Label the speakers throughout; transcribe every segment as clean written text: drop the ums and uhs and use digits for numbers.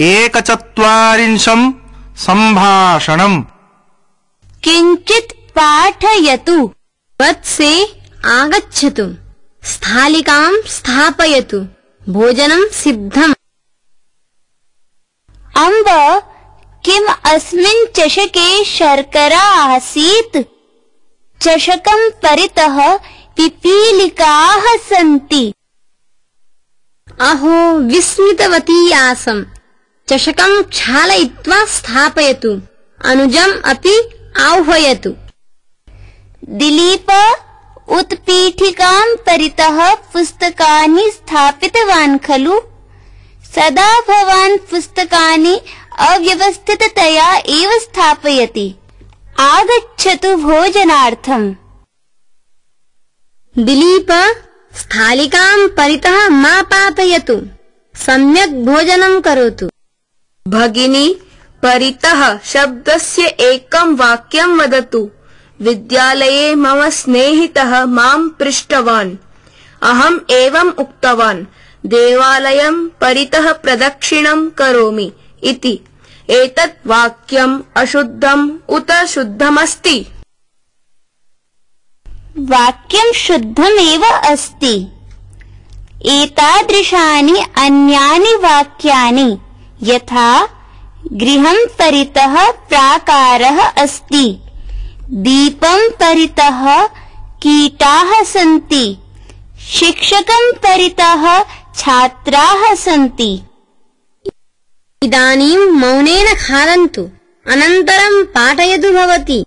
Speaker 1: एकचत्वारिंशं सम्भाषणम्।
Speaker 2: किञ्चित् पाठयतु। वत्से आगच्छतु। स्थालिकां स्थापयतु। भोजनं सिद्धम्। अम्ब, किम् अस्मिन् चषके शर्करा आसीत्? चषकं परितः पिपीलिकाः सन्ति। अहो, विस्मितवती आसम्। चषकं क्षालयित्वा स्थापयतु। अनुजम् अपि आह्वयतु। दिलीप, उत्पीठिकां परितः पुस्तकानि स्थापितवान् खलु? सदा भवान् पुस्तकानि अव्यवस्थिततया एव स्थापयति। आगच्छतु भोजनार्थम्। दिलीप, स्थालिकां परितः मा पातयतु। सम्यक् भोजनं करोतु।
Speaker 3: भगिनी, परितः शब्दस्य एकं वाक्यं वदतु। विद्यालये मम स्नेहितः मां पृष्टवान्। अहम् एवम् उक्तवान्, देवालयं परितः प्रदक्षिणं करोमि इति। एतत् वाक्यम् अशुद्धम् उत शुद्धमस्ति?
Speaker 2: वाक्यं शुद्धमेव अस्ति। एतादृशानि अन्यानि वाक्यानि यथा गृहं परितः प्राकारः अस्ति, दीपं परितः कीटाः सन्ति, शिक्षकं परितः छात्राः सन्ति। इदानीं मौनेन खादन्तु, अनन्तरं पाठयतु भवती।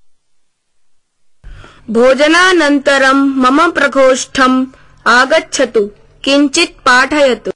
Speaker 3: भोजनानन्तरं मम प्रकोष्ठम् आगच्छतु, किञ्चित् पाठयतु।